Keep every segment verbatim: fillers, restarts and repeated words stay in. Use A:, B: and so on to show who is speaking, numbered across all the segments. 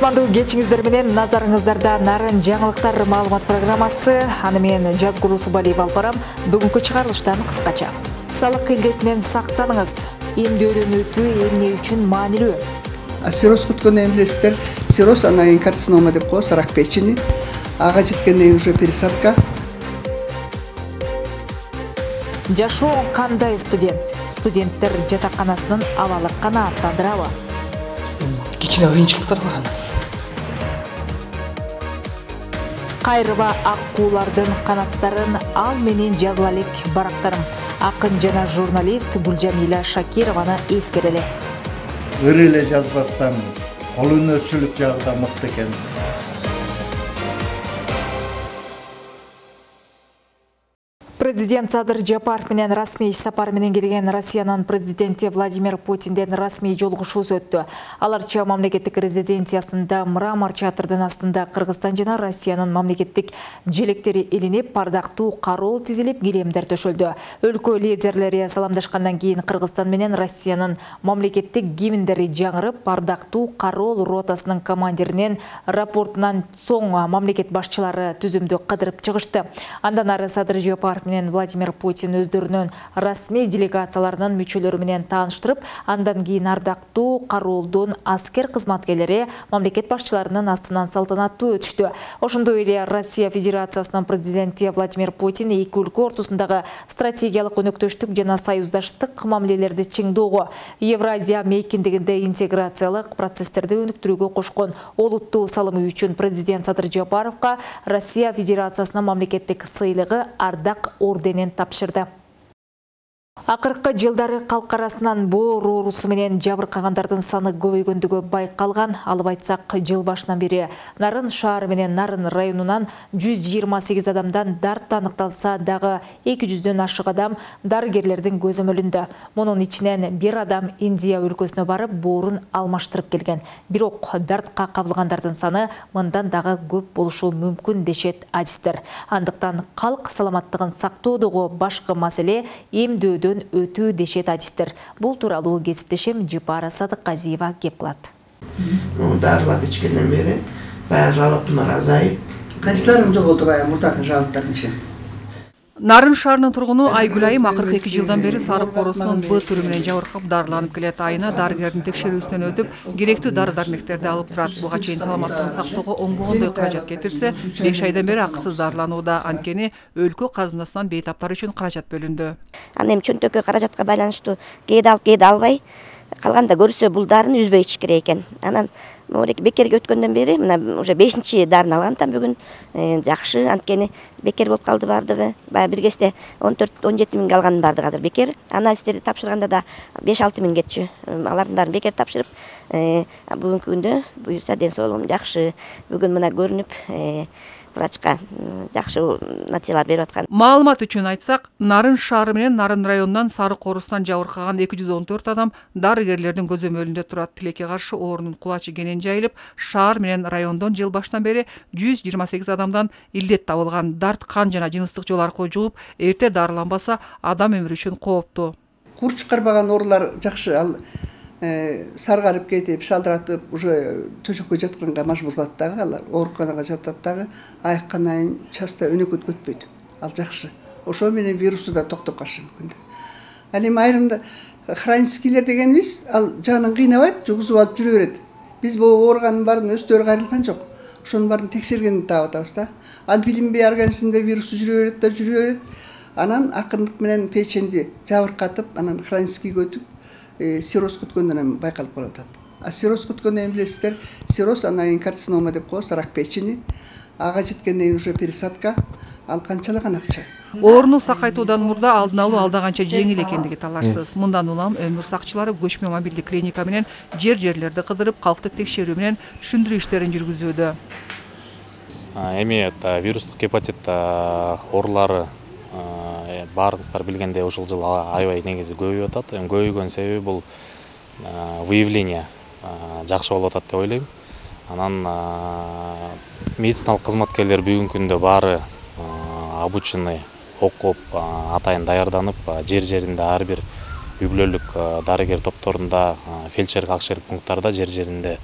A: Кутмандуу кечиңиздер менен назарыңыздарда Нарын жаңылыктар маалымат программасы. Аны мен Жазгул Усубалиева алып барам. Бүгүнкү чыгарылыштан кыскача. Салык илдетинен сактаныңыз. Эмдөөдөн өтүү эмне үчүн маанилүү?
B: Сироз күткөн эмнесиздер? Сироз анан кийин карцинома деп коебуз, рак печени. Ага жеткенден кийин уже пересадка.
A: Жашоо кандай студент? Студенттер жатаканасынын абалы канааттандырабы?
C: Кичине кыйынчылыктар бар аны.
A: Кайрыба аккуулардын канаттарын ал менен жазып элек барактарым. Акын жана журналист Гүлжамила Шакированы эскерели.
D: Ыр эле жазбастан кол өнөрчүлүк жагында мыкты экен.
A: Президент Садыр Жапаров менен расмий иш сапар менен келген Россиянын президенти Владимир Путинден расмий жолугушуусу өттү. Аларча мамлекеттик резиденциясында Мрамор театрдын астында Кыргызстан жана Россиянын мамлекеттик желектери илинип, бардактуу кароо тизилип, килемдер төшөлдү. Өлкө лидерлери саламдашкандан кийин Кыргызстан менен Россиянын мамлекеттик гимндери жаңырып, бардактуу кароо ротасынын командиринин рапортунан соң мамлекет башчылары түзүмдү кыдырып чыгышты. Андан ары Садыр Жапаров менен Владимир Путин өздөрүнүн расмий делегацияларынын мүчөлөрү менен тааныштырып, андан кийин ардактуу кароолдун аскер кызматкерлери мамлекет башчыларынын астынан салтанаттуу өтүштү. Ошондой эле Россия Федерациясынын президенти Владимир Путин эки өлкө ортосундагы стратегиялык өнөктөштүк жана союздаштык мамилелерди чыңдоого, Евразия мейкиндигинде интеграциялык процесстерди өнүктүрүүгө кошкон олуттуу салымы үчүн президент Садыр Жапаровго Россия Федерациясынын мамлекеттик сыйлыгы Ардак орденин тапшырды. Акыркы жылдары калк арасынан боор оорусу менен жабыркагандардын саны көбөйгөндүгү байкалган. Алып айтсак, жыл башынан бери Нарын шаары менен Нарын районунан жүз жыйырма сегиз адамдан дарт аныкталса дагы эки жүздөн ашык адам дарыгерлердин көзөмөлүндө. Мунун ичинен бир адам Индия өлкөсүнө барып боорун алмаштырып келген. Бирок дартка кабылгандардын саны мындан дагы көп болушу мүмкүн дешет адистер. Андыктан калк саламаттыгын сактоодогу башкы маселе эмдөөдөн өтүү дешет адистер. Бул тууралуу кесиптешим Жипара Садыкказиева кеп кылат.
E: Дарылар ичкенден бери баягы жалоптумар азайып.
B: Кайсыларын жоголду баягы мурдагы жалоптардынчы?
C: Нарын шаарынын тургуну Айгүл айым акыркы эки жылдан бери сарык оорусунун Б түрү менен жабыркап дарыланып келет. Айына дарыгердин текшерүүсүнөн өтүп, керектүү дары-дармектерди алып турат. Буга чейин саламаттыгын сактоого оңбогондой каражат кетирсе, беш айдан бери акысыз дарыланууда. Анткени өлкө казынасынан бейтаптар үчүн каражат бөлүндү.
F: Аны эми чөнтөккө каражатка байланыштуу кээде алып кээде албай, калганда көрсө бул дарыны үзбөй ичиш керек экен. Анан моореки бекерге өткөндөн бери мына уже бешинчи дарын алган там бүгүн жакшы. Анткени бекер болуп калды бардыгы. Баягы бир кезде он төрт он жети миңге алгандын бардыгы азыр бекер. Анализдерди тапшырганда да беш алты миң кетчү. Алардын баарын бекер тапшырып, бүгүнкү күндө буюрса ден соолугум жакшы. Бүгүн мына көрүнүп врачка жакшы натыйжалар берип аткан.
C: Маалымат үчүн айтсак, Нарын шаары менен Нарын районунан сарык оорусунан жабыркаган эки жүз он төрт адам дарыгерлердин көзөмөлүндө турат. Тилекке каршы оорунун кулачы кенен жайылып, шаар менен райондон жыл башынан бери жүз жыйырма сегиз адамдан илдет табылган. Дарт кан жана жыныстык жол аркылуу жугуп, эрте дарыланбаса адам өмүрү үчүн кооптуу.
B: Кур чыкарбаган оорулар жакшы, ал саргарып кетип, шалдыратып, уже төшөккө жатканга мажбур кылат дагы, алар ооруканага жатат дагы, айыккандан кийин часто өнөкөт көтпөйт. Ал жакшы. Ошо менен вирусу да токтоп калышы мүмкүн. Ал эми айрымда хроническийлер дегенибиз, ал жанын кыйнабайт, жугузуп алып жүрө берет. Биз бул ооруганын баарын өздөрү кайрылган жок. Ошонун баарын текшергенди таап атабыз да. Ал билинбей организмде вирусу жүрө берет да, жүрө берет. Анан акырындык менен печенди жабыркатып, анан хроническийге өтүп, сироз күткөндөн байкалып калып атат. А сироз күткөн эми билесиздер, сироз анан кийин карцинома деп коебуз, рак печени. Ага жеткенден кийин уже пересадка. Ал канчалаган акча.
C: Ооруну сакайтуудан мурда алдын алуу алда канча жеңил экендиги талашсыз. Мындан улам өмүр сакчылары көчмө мобилдик клиника менен жер-жерлерди кыдырып, калкты текшерүү менен түшүндүрүү иштерин жүргүзүүдө.
G: Эми вирустук гепатит оорулары баарыңыздар билгендей ушул жыл аябай негизи көбөйүп атат. Эми көбөйгөн себеби бул выявление жакшы болуп атат деп ойлойм. Анан медициналык кызматкерлер бүгүнкү күндө баары обученный, окуп, атайын даярданып, жер-жеринде ар бир үй бүлөлүк дарыгер топторунда, фельдшерлик акшерлик пункттарда жер-жеринде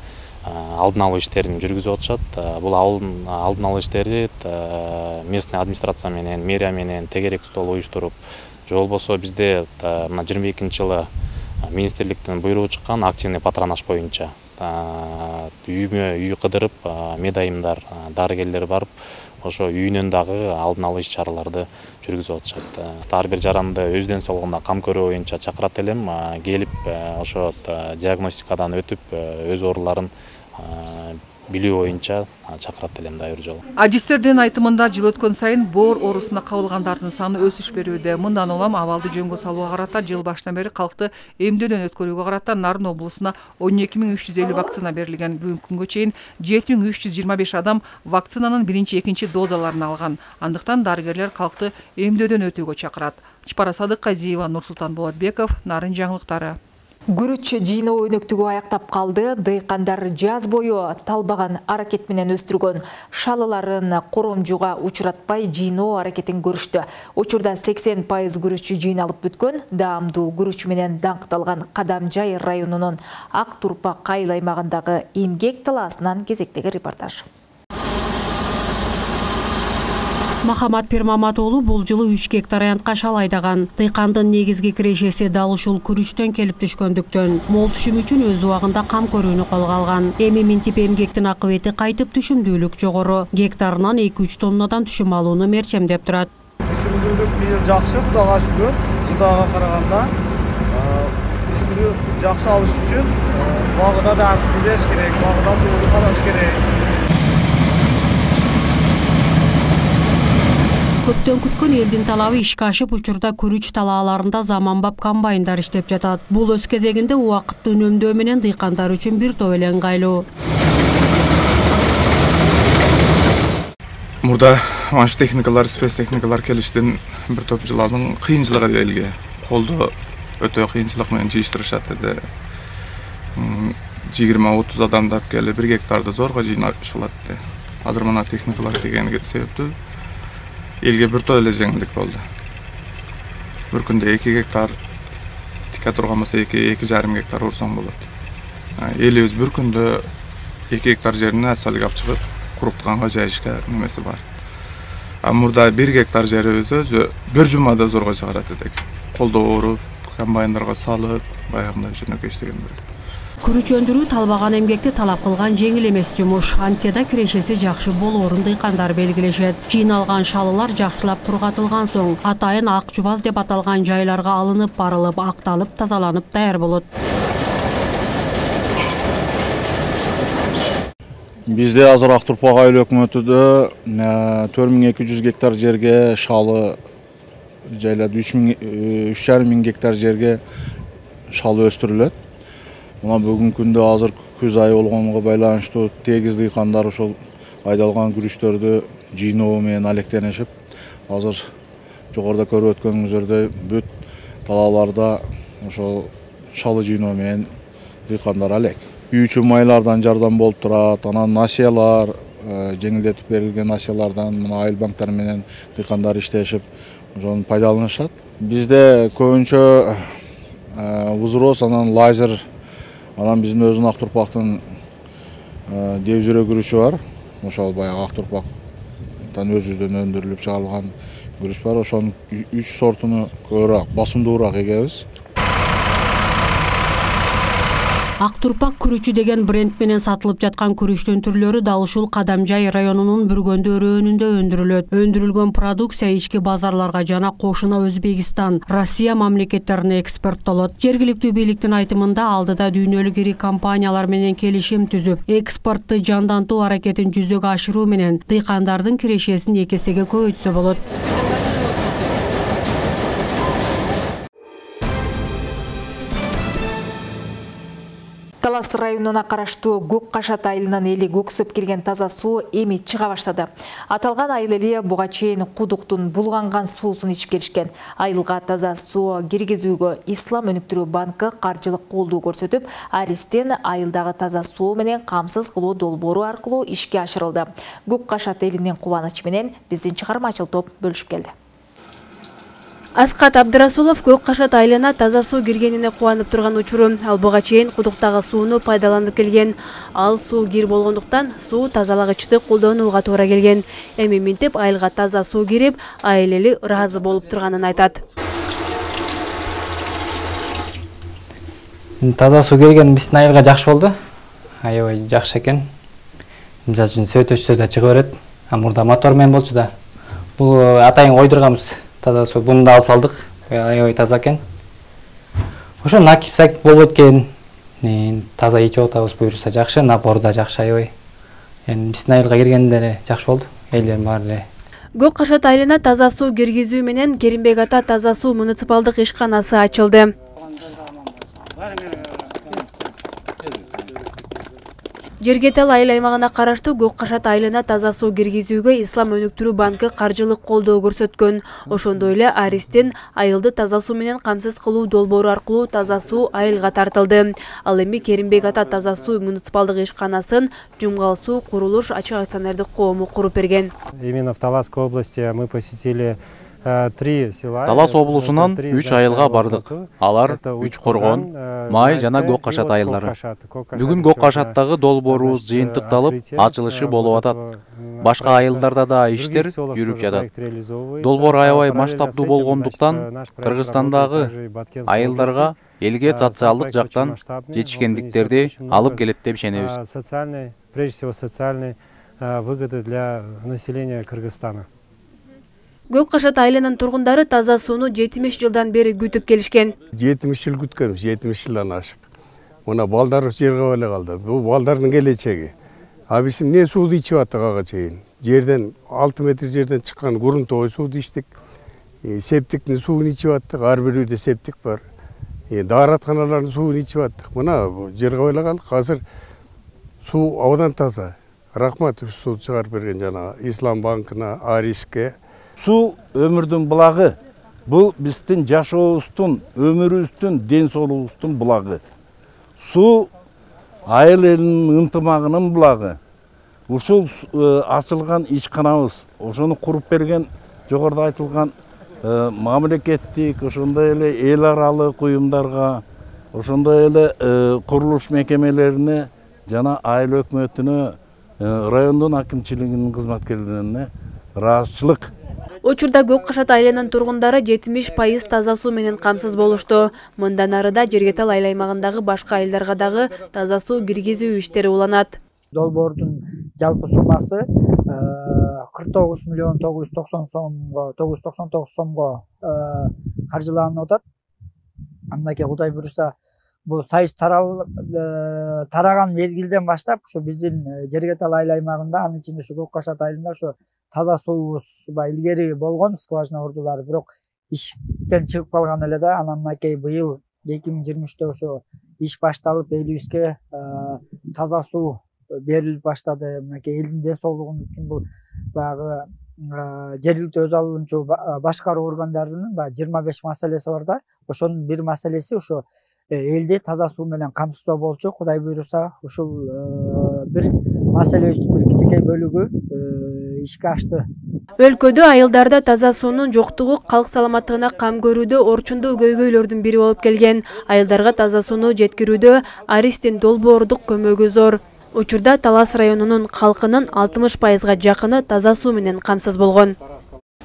G: алдын алуу иштерин жүргүзүп атышат. Бул алдын алуу иштери местный администрация менен, мэрия менен тегерек стол уюштуруп, же болбосо бизде мына жыйырма экинчи жылы министрликтин буйругу чыккан активный патронаж боюнча үймө үй кыдырып, медайымдар, дарыгерлер барып, ошо үйүнөн дагы алдын алуу иш-чараларды жүргүзүп атышат. Ар бир жаранды өздөн солгунда кам көрүү боюнча чакырат элем, келип ошо диагностикадан өтүп, өз ооруларын билүү боюнча чакырат элем дагы бир жолу.
C: Адистердин айтымында жыл өткөн сайын боор оорусуна кабылгандардын саны өсүш берүүдө. Мындан улам абалды жөнгө салууга карата жыл башынан бери калкты эмдөөдөн өткөрүүгө карата Нарын облусуна он эки миң үч жүз элүү вакцина берилген. Бүгүнкү күнгө чейин жети миң үч жүз жыйырма беш адам вакцинанын биринчи, экинчи дозаларын алган. Андыктан дарыгерлер калкты эмдөөдөн өтүүгө чакырат. Чапара Садыкказиева, Нурсултан Болотбеков, Нарын жаңылыктары.
A: Күрүч жыйноо өнөктүгү аяктап калды. Дыйкандар жаз бою талбаган аракет менен өстүргөн шалыларын коромжуга учуратпай жыйноо аракетин көрүштү. Учурда сексен пайыз күрүч жыйналып бүткөн. Даамдуу күрүч менен даңкталган Кадамжай районунун Ак Турпак айыл аймагындагы эмгек талаасынан кезектеги репортаж.
H: Махамат Пирмамат уулу бул жылы үч гектар аянтка шал айдаган. Дыйкандын негизги кирешеси дал ушул күрүчтөн келип түшкөндүктөн мол түшүм үчүн өз убагында кам көрүүнү колго алган. Эми минтип эмгектин акыбети кайтып түшүмдүүлүк жогору. Гектарынан эки үч тоннадан түшүм алууну мерчемдеп турат.
I: Түшүмдүүлүк бийил жакшы, Кудайга шүгүр. Жылдага караганда түшүмдүүлүк жакшы алыш үчүн багыда дарысын бериш керек, багыда суу калыш керек.
H: Көптөн күткөн элдин талабы ишке ашып, учурда күрүч талааларында заманбап комбайндар иштеп жатат. Бул өз кезегинде убакытты үнөмдөө менен дыйкандар үчүн бир топ эле ыңгайлуу.
J: Мурда манш техникалар, спец техникалар келиштен бир топ жылдын кыйынчылыгы элге колдо өтө кыйынчылык менен жыйыштырышат эди. жыйырма отуз адамдар келип бир гектарды зорго жыйнашылат. Азыр мына техникалар келгени себептүү элге бир топ эле жеңилдик болду. Бир күндө эки гектар тика турган болсо эки эки жарым гектар урсаң болот. Элибиз бир күндө эки гектар жерин асфальтка алып чыгып, курутканга жайышка немеси бар. А мурда бир гектар жерибиз өзү бир жумада зорго чыгарат эдик. Колдо ооруп, комбайндарга салып, баягындай жөнөкөй иштеген бир.
H: Күрүч өндүрүү талбаган эмгекти талап кылган жеңил эмес жумуш. Антияда кирешеси жакшы болоорун дыйкандар белгилешет. Жыйналган шалылар жакшылап кургатылган соң атайын ак жубаз деп аталган жайларга алынып барылып, акталып, тазаланып даяр болот.
K: Бизде азыр Ак Турпак айыл өкмөтүдө төрт миң эки жүз гектар жерге шалы жайлады, үч жарым миң гектар жерге шалы өстүрүлөт. Мына бүгүнкү күндө азыр күз айы болгонго байланыштуу тегиз дыйкандар ошол айдалган күрүчтөрдү жыйноо менен алектенишип, азыр жогоруда көрүп өткөнүңүздөрдөй бүт талааларда ошол шалы жыйноо менен дыйкандар алек. Үй үчүн майлардан жардам болуп турат, анан насыялар, жеңилдетип берилген насыялардан мына айыл банктары менен дыйкандар иштешип, ошону пайдаланышат. Бизде көбүнчө вузроз, анан лазер, анан биздин өзүнүн Ак Турпактын деп жүрө күрүчү бар. Ошол баягы Ак Турпактан өзүбүздөн өндүрүлүп чыгарылган күрүч бар. Ошонун үч сортуну көбүрөөк, басымдуураак эгебиз.
H: Ак Турпак күрүчү деген бренд менен сатылып жаткан күрүчтүн түрлөрү дал ушул Кадамжай районунун Бүргөндө районунда өндүрүлөт. Өндүрүлгөн продукция ички базарларга жана кошуна Өзбекистан, Россия мамлекеттерине экспорттолот. Жергиликтүү бийликтин айтымында алдыда дүйнөлүк ири компаниялар менен келишим түзүп, экспортту жандантуу аракетин жүзөгө ашыруу менен дыйкандардын кирешесин эки эсеге көбөйтсө болот.
A: Талас районуна караштуу Көк Кашат айылынын эли көксөп кирген таза суу эми чыга баштады. Аталган айыл эли буга чейин кудуктун булганган суусун ичип келишкен. Айылга таза суу киргизүүгө Ислам өнүктүрүү банкы каржылык колдоо көрсөтүп, Аристен айылдагы таза суу менен камсыз кылуу долбоору аркылуу ишке ашырылды. Көк Кашат элинин кубанычы менен биздин чыгармачыл топ бөлүшүп келди.
L: Аскат Абдрасулов Көк Кашат айылына таза суу киргенине кубанып турган учуру. Ал буга чейин кудуктагы сууну пайдаланып келген. Ал суу кир болгондуктан суу тазалагычты колдонууга туура келген. Эми минтип айылга таза суу кирип, айыл эли ыраазы болуп турганын айтат.
M: Таза суу келген биздин айылга жакшы болду. Аябай жакшы экен. Мисалы үчүн сөйтөчтө да чыга берет. А мурда мотор менен болчу да. Бул атайын койдурганбыз. Таза суу буну да алып алдык. Аябай таза экен. Ошо накип сакип болбойт экен. Таза ичип атабыз буюрса жакшы, напор да жакшы аябай. Эми биздин айылга киргенде эле жакшы болду. Элдердин баары эле.
L: Көк Кашат айылына таза суу киргизүү менен Керимбек ата таза суу муниципалдык ишканасы ачылды. Жергетал айыл аймагына караштуу Көк Кашат айылына таза суу киргизүүгө Ислам өнүктүрүү банкы каржылык колдоо көрсөткөн. Ошондой эле Аристин айылды таза суу менен камсыз кылуу долбоору аркылуу таза суу айылга тартылды. Ал эми Керимбек ата таза суу муниципалдык ишканасын Жумгал суу курулуш ачык акционердик коому куруп берген.
I: Именно в Таласской области мы посетили три села.
N: Талас облусунан үч айылга бардык. Алар Үч Коргон, Май жана Көк Кашат айылдары. Бүгүн Көк Кашаттагы долбоорубуз жыйынтыкталып, ачылышы болуп атат. Башка айылдарда да иштер жүрүп жатат. Долбоор аябай масштабдуу болгондуктан Кыргызстандагы айылдарга элге социалдык жактан жетишкендиктерди алып келет деп ишенебиз.
I: Социальный, прежде всего социальные выгоды для населения Кыргызстана.
L: Көк Кашат айылынын тургундары таза сууну жетимиш жылдан бери күтүп келишкен.
O: жетимиш жыл күткөнбүз, жетимиш жылдан ашык. Мына балдар жерге эле калды. Бул балдардын келечеги. А биз эмне сууду ичип аттык ага чейин? Жерден алты метр жерден чыккан грунтовый сууду ичтик. Септиктин суун ичип аттык, ар бирөөдө септик бар. Дааратканалардын суун ичип аттык. Мына жерге эле калдык. Азыр суу абдан таза. Рахмат ушу сууду чыгарып берген жана Ислам банкына, Ариске.
P: Суу өмүрдүн булагы. Бул биздин жашообуздун, өмүрүбүздүн, ден соолугубуздун булагы. Суу айыл элинин ынтымагынын булагы. Ушул ачылган ишканабыз, ошону куруп берген жогоруда айтылган мамлекеттик, ошондой эле эл аралык уюмдарга, ошондой эле курулуш мекемелерине жана айыл өкмөтүнө, райондун акимчилигинин кызматкерлерине ыраазычылык.
L: Учурда Көк Кашат айылынын тургундары жетимиш пайыз таза суу менен камсыз болушту. Мындан арыда Жергетал айыл аймагындагы башка айылдарга дагы таза суу киргизүү иштери уланат.
Q: Долбоордун жалпы суммасы кырк тогуз миллион тогуз жүз токсон сомго, тогуз жүз токсон тогуз сомго каржыланып атат. Андан Кудай буюрса, бул сайыс тараган мезгилден баштап ушу биздин Жергетал айыл аймагында, анын ичинде ушу Көк Кашат айылында ушу таза суубуз илгери болгон скважина урдулары, бирок иштен чыгып калган эле да. Анан мынакей быйыл эки миң жыйырма үчтө ошо иш башталып, элибизге таза суу берилип баштады. Мынакей элдин ден соолугу үчүн бул баягы жергиликтүү өз алуучу башкаруу органдарынын баягы жыйырма беш маселеси бар да. Ошонун бир маселеси ошо элди таза суу менен камсыздоо болчу. Кудай буйруса, ушул бир маселебиздин бир кичинекей бөлүгү ишке ашты.
L: Өлкөдө айылдарда таза суунун жоктугу калк саламаттыгына кам көрүүдө орчундуу көйгөйлөрдүн бири болуп келген. Айылдарга таза сууну жеткирүүдө Аристин долбоордук көмөгү зор. Учурда Талас районунун калкынын алтымыш пайызга жакыны таза суу менен камсыз болгон.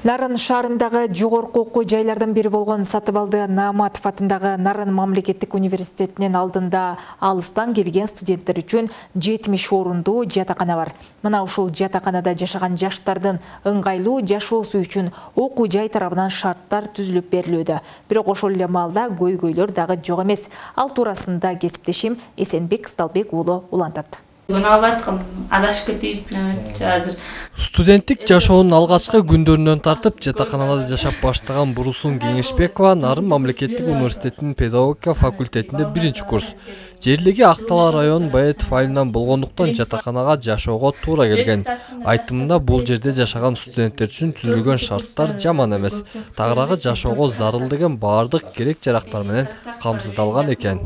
A: Нарын шаарындагы жогорку окуу жайлардан бири болгон Сатыбалды Нааматов атындагы Нарын мамлекеттик университетинин алдында алыстан келген студенттер үчүн жетимиш орундуу жатакана бар. Мына ушул жатаканада жашаган жаштардын ыңгайлуу жашоосу үчүн окуу жай тарабынан шарттар түзүлүп берилүүдө. Бирок ошол эле маалда көйгөйлөр дагы жок эмес. Ал туурасында кесиптешим Эсенбек Сталбек уулу улантат.
R: Студенттик жашоонун алгачкы күндөрүнөн тартып жатаканада жашап баштаган Бурусун Кеңешбекова Нарын мамлекеттик университетинин педагогика факультетинде биринчи курс. Жерлеги Актала районунун Баетов айылынан болгондуктан жатаканага жашоого туура келген. Айтымында бул жерде жашаган студенттер үчүн түзүлгөн шарттар жаман эмес. Тагыраагы жашоого зарыл деген баардык керек жарактар менен камсыздалган экен.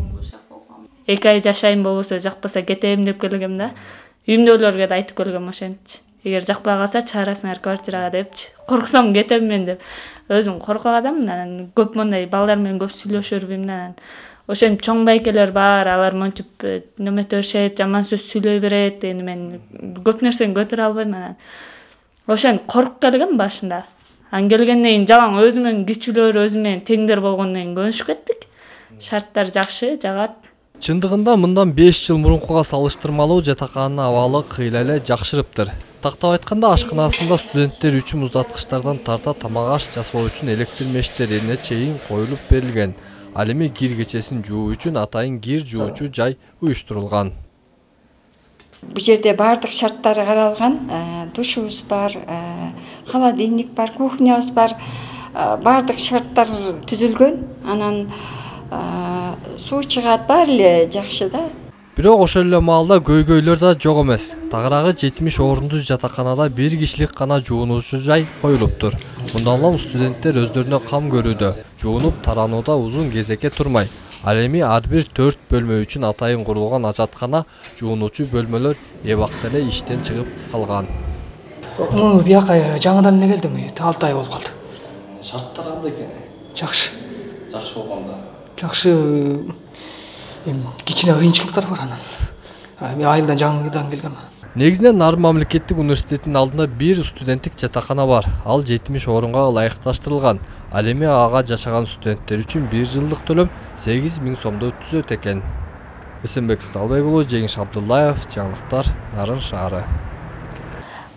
S: Эки ай жашайын болбосо жакпаса кетем деп келгем да. Үйүмдөгүлөргө да айтып келгем ошентчи. эгер жакпай калса чыгарасыңар квартирага депчи. Корксом кетем мен деп. Өзүм коркок адаммын, анан көп мондай балдар менен көп сүйлөшө бербейм анан. Ошентип чоң байкелер бар, алар монтип неметөшөт, жаман сөз сүйлөй берет. Эми мен көп нерсени көтөрө албайм анан. Ошентип коркуп келгем башында. Ан келгенден кийин жалаң өзүм менен кичүүлөр, өзүм менен теңдер болгондон кийин көнүшүп кеттик. Шарттар жакшы, жагат.
R: Чындыгында мындан беш жыл мурункуга салыштырмалуу жатакананын абалы кыйла эле жакшырыптыр. Тактап айтканда ашканасында студенттер үчүн муздаткычтардан тарта тамак аш жасоо үчүн электр мештерине чейин коюлуп берилген. Ал эми кир кечесин жуу үчүн атайын кир жуучу жай уюштурулган.
T: Бул жерде бардык шарттары каралган. Душубуз бар, холодильник бар, кухнябыз бар. Бардык шарттар түзүлгөн. Анан суу чыгат, баары эле жакшы да.
R: Бирок ошол эле маалда көйгөйлөр да жок эмес. Тагыраагы жетимиш орундуу жатаканада бир кишилик гана жуунуучу жай коюлуптур. Мындан улам студенттер өздөрүнө кам көрүүдө, жуунуп таранууда узун кезекке турмай. Ал эми ар бир төрт бөлмө үчүн атайын курулган ажаткана, жуунуучу бөлмөлөр эбакта эле иштен чыгып калган.
U: Бияка жаңыдан эле келдим, алты ай болуп калды.
R: Шарттар кандай экен?
U: Жакшы.
R: Жакшы болгондо.
U: Жакшы. Кичине кыйынчылыктар бар анан. Мен айылдан жаңыдан келгем.
R: Негизинен Нарын мамлекеттик университетинин алдында бир студенттик жатакана бар. Ал жетимиш орунга ылайыкташтырылган. Ал эми ага жашаган студенттер үчүн бир жылдык төлөм сегиз миң сомду түзөт экен. Эсенбек Сталбек уулу, Жеңиш Абдуллаев, жаңылыктар, Нарын шаары.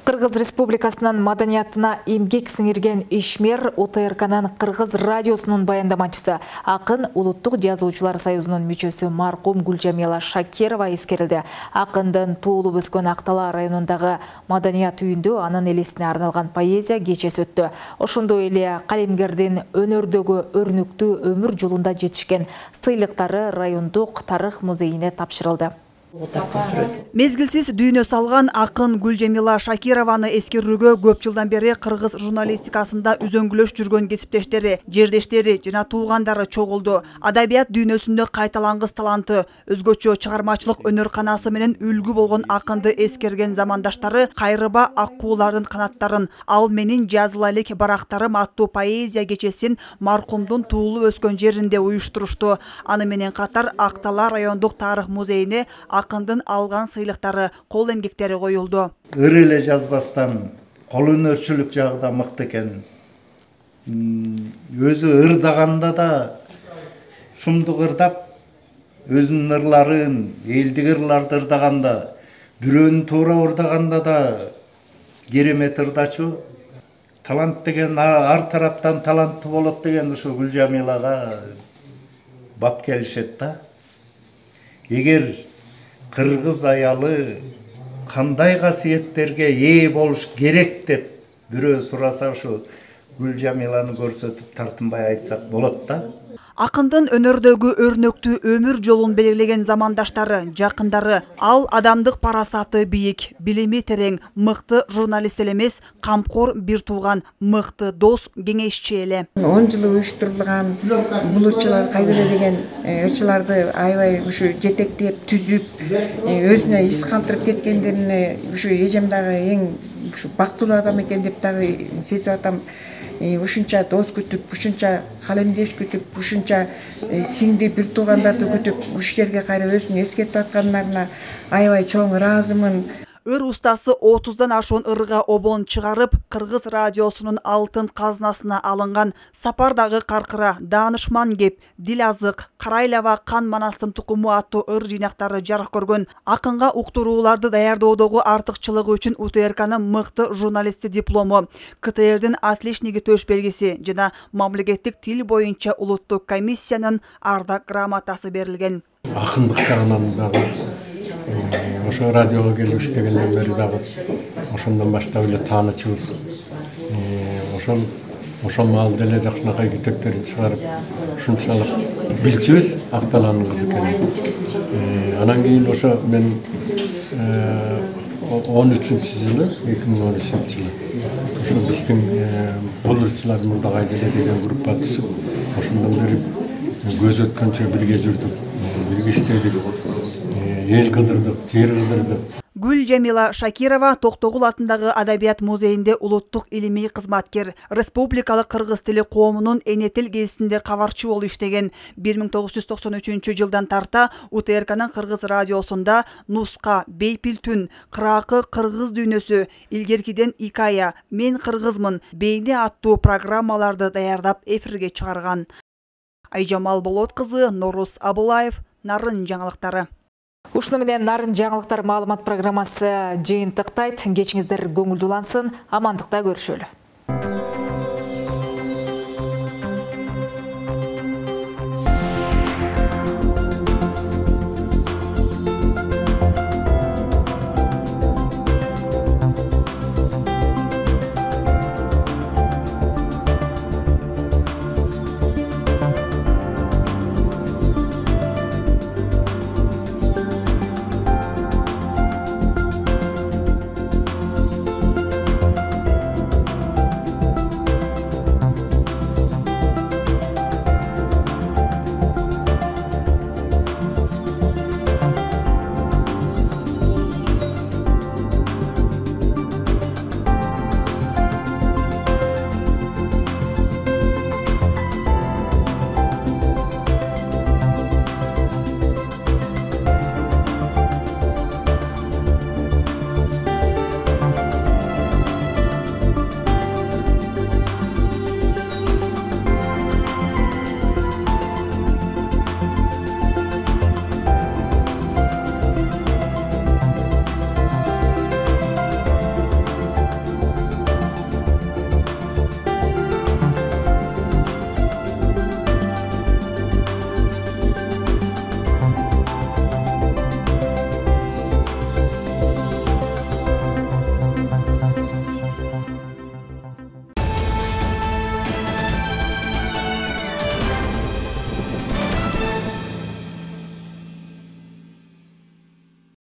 A: Кыргыз Республикасынын маданиятына эмгек сиңирген ишмер О Т Р К'нын Кыргыз радиосунун баяндамачысы, акын Улуттук жазуучулар союзунун мүчөсү маркум Гүлжамила Шакирова эскерилди. Акындын туулуп өскөн Актала районундагы маданият үйүндө анын элесине арналган поэзия кечеси өттү. Ошондой эле калемгердин өнөрдөгү өрнүктүү өмүр жолунда жетишкен сыйлыктары райондук тарых музейине тапшырылды.
V: Мезгилсиз дүйнө салган акын Гүлжамила Шакированы эскерүүгө көп жылдан бери кыргыз журналистикасында үзөңгүлөш жүргөн кесиптештери, жердештери жана туугандары чогулду. Адабият дүйнөсүндө кайталангыс таланты, өзгөчө чыгармачылык өнөр канасы менен үлгү болгон акынды эскерген замандаштары кайрыба аккуулардын канаттарын, ал менин жазыла элек барактарым аттуу поэзия кечесин маркумдун туулуп өскөн жеринде уюштурушту. Аны менен катар Актала райондук тарых музейине акындын алган сыйлыктары, кол эмгектери коюлду.
D: Ыр эле жазбастан кол өнөрчүлүк жагы да мыкты экен. Өзү ырдаганда да шумдук ырдап, өзүнүн ырларын, элдик ырларды ырдаганда, бирөөнү туура ырдаганда да керемет ырдачу. Талант деген ар тараптан таланттуу болот деген ушу Гүлжамилага бап келишет да. Эгер кыргыз аялы кандай касиеттерге ээ болуш керек деп бирөө сураса ушу Гүлжамиланы көрсөтүп тартынбай айтсак болот да.
V: Акындын өнөрдөгү өрнөктүү өмүр жолун белгилеген замандаштары, жакындары, ал адамдык парасаты бийик, билими терең, мыкты журналист эле эмес, камкор бир тууган, мыкты дос, кеңешчи эле.
W: он жыл уюштурулган бул ырчылар кайда эле деген ырчыларды аябай ушу жетектеп, түзүп, өзүнө иш калтырып кеткендерине ушу эжем дагы эң ушу бактылуу адам экен деп дагы сезип атам. Ушунча дос күтүп, ушунча калемдеш күтүп, ушунча сиңди бир туугандарды күтүп, уш жерге кайра өзүн эскертип аткандарына аябай чоң ыраазымын.
V: Ыр устасы отуздан ашуун ырга обон чыгарып, Кыргыз радиосунун алтын казнасына алынган Сапардагы каркыра, Даанышман кеп, Дил азык, Карайлаба кан манастын тукуму аттуу ыр жыйнактары жарык көргөн. Акынга уктурууларды даярдоодогу артыкчылыгы үчүн У Т Р К'нын мыкты журналисти диплому, К Т Р'дин отличниги төш белгиси жана мамлекеттик тил боюнча улуттук комиссиянын ардак грамотасы берилген.
X: Акындык жагынан дагы ошо радиого келип иштегенден бери дагы ошондон баштап эле таанычыбыз. Ошол ошол маалда эле жакшынакай китептерин чыгарып, ушунчалык билчүбүз Акталанын кызы экенин. Анан кийин ошо мен он үчүнчү жылы, эки миң он үчүнчү жылы ошо биздин бул ырчылар мурда кайда эле деген группа түзүп, ошондон бери көз өткөнчө бирге жүрдүк, бирге иштедик. Эл кыдырдык, жер кыдырдык.
V: Гүлжемила Шакирова Токтогул атындагы Адабият музейинде улуттук илимий кызматкер, республикалык кыргыз тили коомунун эне тил гезитинде кабарчы болуп иштеген. бир миң тогуз жүз токсон үчүнчү жылдан тарта У Т Р К'нын кыргыз радиосунда Нуска, Бейпил түн, Кыракы кыргыз дүйнөсү, илгеркиден Икая, Мен кыргызмын, Бейне аттуу программаларды даярдап эфирге чыгарган. Айжамал Болот кызы, Норус Абылаев, Нарын жаңылыктары.
A: Ушуну менен Нарын жаңылыктар маалымат программасы жыйынтыктайт. Кечиңиздер көңүлдүү улансын, амандыкта көрүшөлү.